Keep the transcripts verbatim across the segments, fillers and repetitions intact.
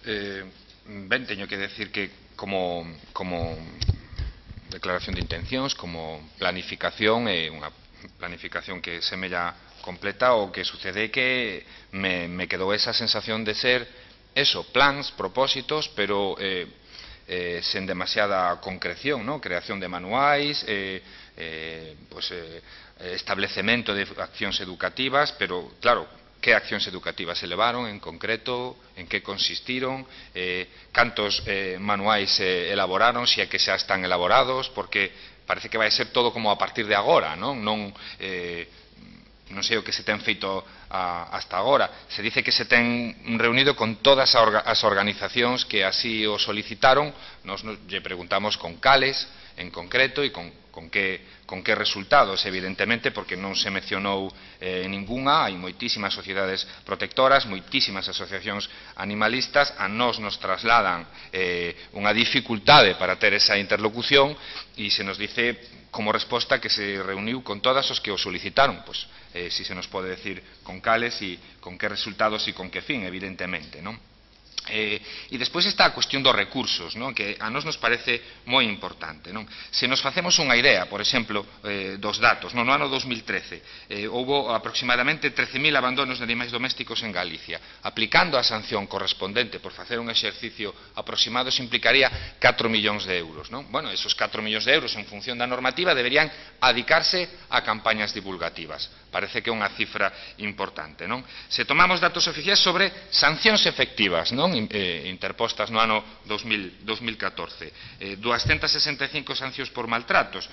Eh, ben, teño que decir que como, como declaración de intencións, como planificación, é eh, unha planificación que semella completa. O que sucede é que me, me quedou esa sensación de ser eso, plans, propósitos, pero eh, eh, sen demasiada concreción, ¿no? Creación de manuais, eh, eh, pues, eh, establecemento de accións educativas, pero claro, que accións educativas se levaron en concreto, en que consistiron, eh, cantos eh, manuais se elaboraron, se é que xa están elaborados, porque parece que vai ser todo como a partir de agora, non? Non, eh, non sei o que se ten feito a, hasta agora. Se dice que se ten reunido con todas as organizacións que así o solicitaron. Nos, nos lle preguntamos con cales en concreto e con, con, que, con que resultados, evidentemente, porque non se mencionou eh, ningunha. Hai moitísimas sociedades protectoras, moitísimas asociacións animalistas. A nós nos trasladan eh, unha dificultade para ter esa interlocución e se nos dice como resposta que se reuniu con todas os que o solicitaron. Pois, eh, si se nos pode decir con cales e con que resultados e con que fin, evidentemente, non? Eh, e despois está a cuestión dos recursos, non? Que a nos nos parece moi importante, non? Se nos facemos unha idea, por exemplo, eh, dos datos, non? No ano dos mil trece eh, houbo aproximadamente trece mil abandonos de animais domésticos en Galicia. Aplicando a sanción correspondente por facer un exercicio aproximado, se implicaría catro millóns de euros, non? Bueno, esos catro millóns de euros en función da normativa deberían adicarse a campañas divulgativas. Parece que é unha cifra importante, non? Se tomamos datos oficiais sobre sancións efectivas, non? Eh, interpostas no ano dos mil catorce, eh, duascentas sesenta e cinco sancións por maltratos.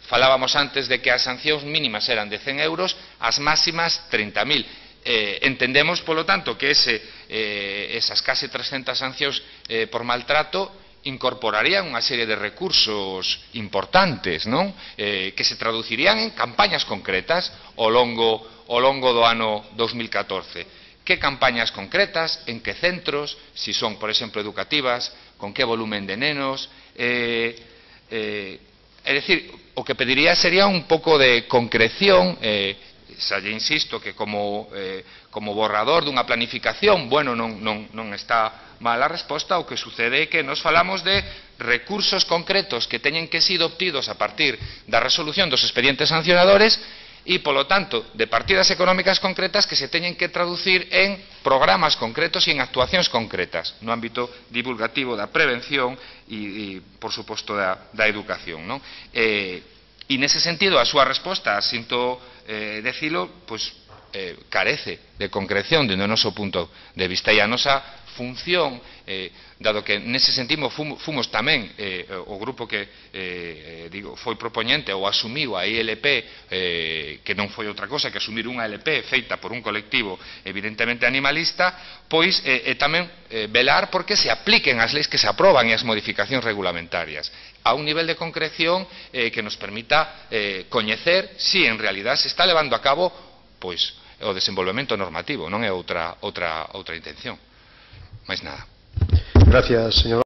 Falábamos antes de que as sancións mínimas eran de cen euros, as máximas trinta mil. Eh, entendemos, polo tanto, que ese, eh, esas case trescentas sancións eh, por maltrato incorporarían unha serie de recursos importantes, non? Eh, que se traducirían en campañas concretas ao longo, ao longo do ano dos mil catorce. Que campañas concretas, en que centros, si son, por exemplo, educativas, con que volumen de nenos. Eh, eh, é dicir, o que pediría sería un pouco de concreción. eh, xa lle insisto que como, eh, como borrador dunha planificación, bueno, non, non, non está mal a resposta. O que sucede é que nos falamos de recursos concretos que teñen que ser obtidos a partir da resolución dos expedientes sancionadores e, polo tanto, de partidas económicas concretas que se teñen que traducir en programas concretos e en actuacións concretas no ámbito divulgativo, da prevención e, e por suposto, da, da educación, non? Eh, e nese sentido, a súa resposta, sinto eh, decilo, pois, eh, carece de concreción dende o noso punto de vista, e a nosa función, eh, dado que nese sentido fomos, fomos tamén eh, o grupo que eh, digo, foi propoñente ou asumiu a I L P, eh, que non foi outra cosa que asumir unha L P feita por un colectivo evidentemente animalista, pois eh, eh, tamén eh, velar porque se apliquen as leis que se aproban e as modificacións regulamentarias a un nivel de concreción eh, que nos permita eh, coñecer si en realidad se está levando a cabo pois o desenvolvemento normativo, non é outra, outra, outra intención. Máis nada. Gracias, señor.